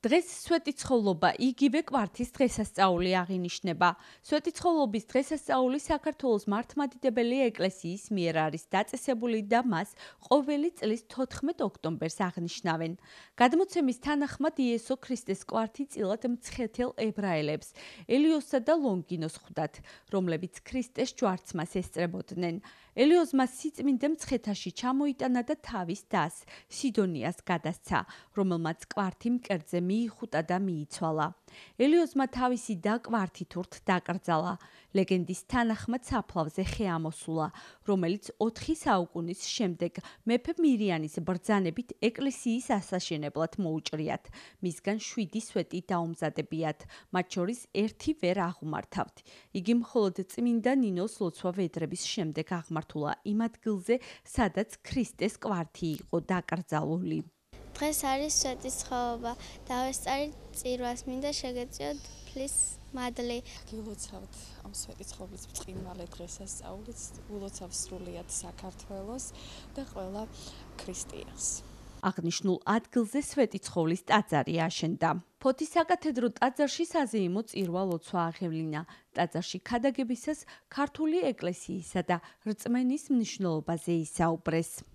დღეს სვეტიცხოვლობა იგივე კვართის დღესასწაული აღინიშნება. სვეტიცხოვლობის დღესასწაული საქართველოს მართლმადიდებელი ეკლესიის მიერ არის დაწესებული და მას ყოველი წლის 14 ოქტომბერს აღნიშნავენ. გადმოცემის თანახმად იესო ქრისტეს კვართი წილად მცხეთელ ებრაელებს, ელიოსსა და ლონგინოს ხვდათ, რომლებიც ქრისტეს ჯვარცმას ესწრებოდნენ. ელიოსმა სიწმინდე მცხეთაში ჩამოიტანა და თავის დას, სიდონიას გადასცა, რომელმაც კვართი მკერდზე მიიხუტა და მიიცვალა. ელიოსმა თავისი და კვართით ურთ დაკრძალა. ლეგენდის თანახმად საფლავზე ხე ამოსულა, რომელიც 4 საუკუნის შემდეგ მეფე მირიანის ბრძანებით ეკლესიის ასაშენებლად მოუჭრიათ. მისგან 7 სვეტი დაუმზადებიათ, მათ შორის 1 ვერ აღმართავთ. იგი მხოლოდ წმინდა ნინოს ლოცვა-ვედრების შემდეგ აღმართულა იმ ადგილზე, სადაც ქრისტეს კვართი იყო დაკრძალული. დღეს არის სვეტიცხოვლობა. დავესწარით წირვას, მინდა შეგეწიოთ ფლის მადლი. გილოცავთ ამ სვეტიცხოვლის ბრწყინვალე დღესასწაულით, ულოცავ სრულიად საქართველოს და ყველა ქრისტიანს. აღნიშნულ ადგილზე სვეტიცხოვლის ტაძარი აშენდა. ფოთის საკათედრო ტაძარში საზეიმო წირვა ლოცვა აღევლინა. ტაძარში ქადაგებისას ქართული ეკლესიისა და რწმენის მნიშვნელობაზე ისაუბრეს.